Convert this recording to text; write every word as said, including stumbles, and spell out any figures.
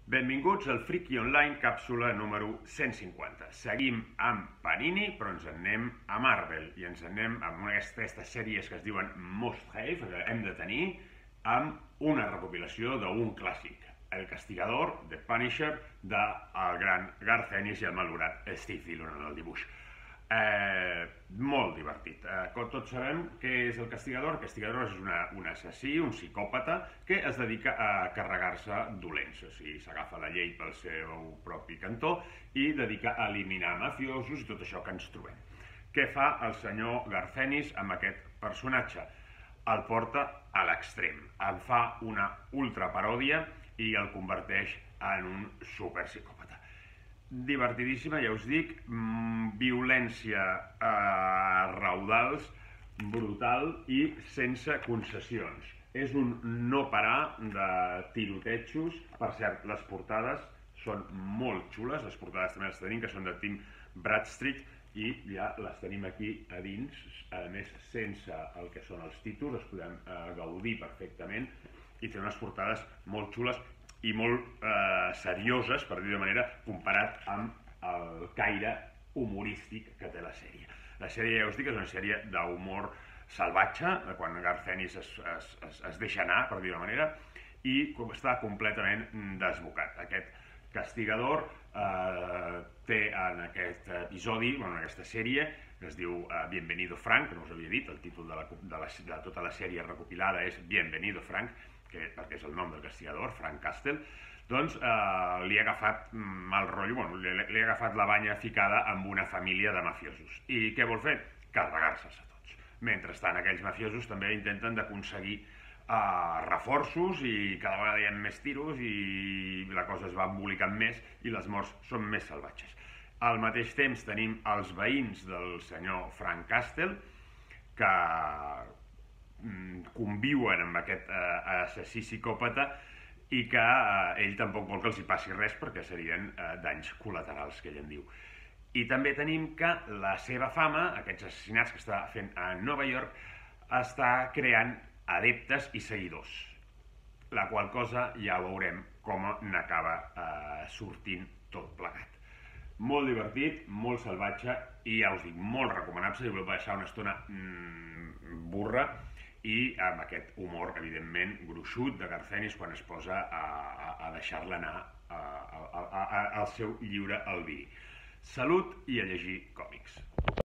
Benvinguts al Friki Online, càpsula número cent cinquanta. Seguim amb Panini, però ens en anem a Marvel i ens en anem amb una d'aquestes sèries que es diuen Must Have, que hem de tenir, amb una recopilació d'un clàssic, El Castigador, The Punisher, del gran Garth Ennis i el malaurat Steve Dillon en el dibuix. Eh, molt divertit. Eh, com tots sabem què és el Castigador. El Castigador és una, un assassí, un psicòpata que es dedica a carregar-se dolents, o sigui, s'agafa la llei pel seu propi cantó i dedica a eliminar mafiosos i tot això que ens trobem. Què fa el senyor Garth Ennis amb aquest personatge? El porta a l'extrem, en fa una ultraparòdia i el converteix en un superpsicòpata. Divertidíssima, ja us dic, mmm, violència a raudals, brutal i sense concessions. És un no parar de tirotejos. Per cert, les portades són molt xules, les portades també les tenim, que són de Tim Bradstreet, i ja les tenim aquí a dins, a més sense el que són els títols, els podem eh, gaudir perfectament, i té unes portades molt xules i molt eh, serioses, per dir-ho de manera, comparat amb el caire humorístic que té la sèrie. La sèrie, ja us dic, és una sèrie d'humor salvatge, quan Garth Ennis es, es, es, es deixa anar, per dir-ho de manera, i està completament desbocat. Aquest Castigador eh, té en aquest episodi, bueno, en aquesta sèrie, que es diu eh, Bienvenido Frank, que no us havia dit, el títol de, la, de, la, de tota la sèrie recopilada és Bienvenido Frank, que, perquè és el nom del Castigador, Frank Castle, doncs eh, li ha agafat mal rotllo, bueno, li, li ha agafat la banya ficada amb una família de mafiosos. I què vol fer? Carregar-se'ls a tots. Mentrestant, aquells mafiosos també intenten d'aconseguir eh, reforços i cada vegada hi ha més tiros i la cosa es va embolicant més i les morts són més salvatges. Al mateix temps tenim els veïns del senyor Frank Castle, que conviuen amb aquest eh, assassí psicòpata i que eh, ell tampoc vol que els hi passi res perquè serien eh, danys col·laterals, que ell en diu. I també tenim que la seva fama, aquests assassinats que està fent a Nova York, està creant adeptes i seguidors, la qual cosa ja veurem com n'acaba eh, sortint tot plegat. Molt divertit, molt salvatge i ja us dic, molt recomanable si voleu passar una estona mmm, burra i amb aquest humor, evidentment, gruixut de Garth Ennis quan es posa a, a, a deixar-la anar a, a, a, a, al seu lliure albir. Salut i a llegir còmics.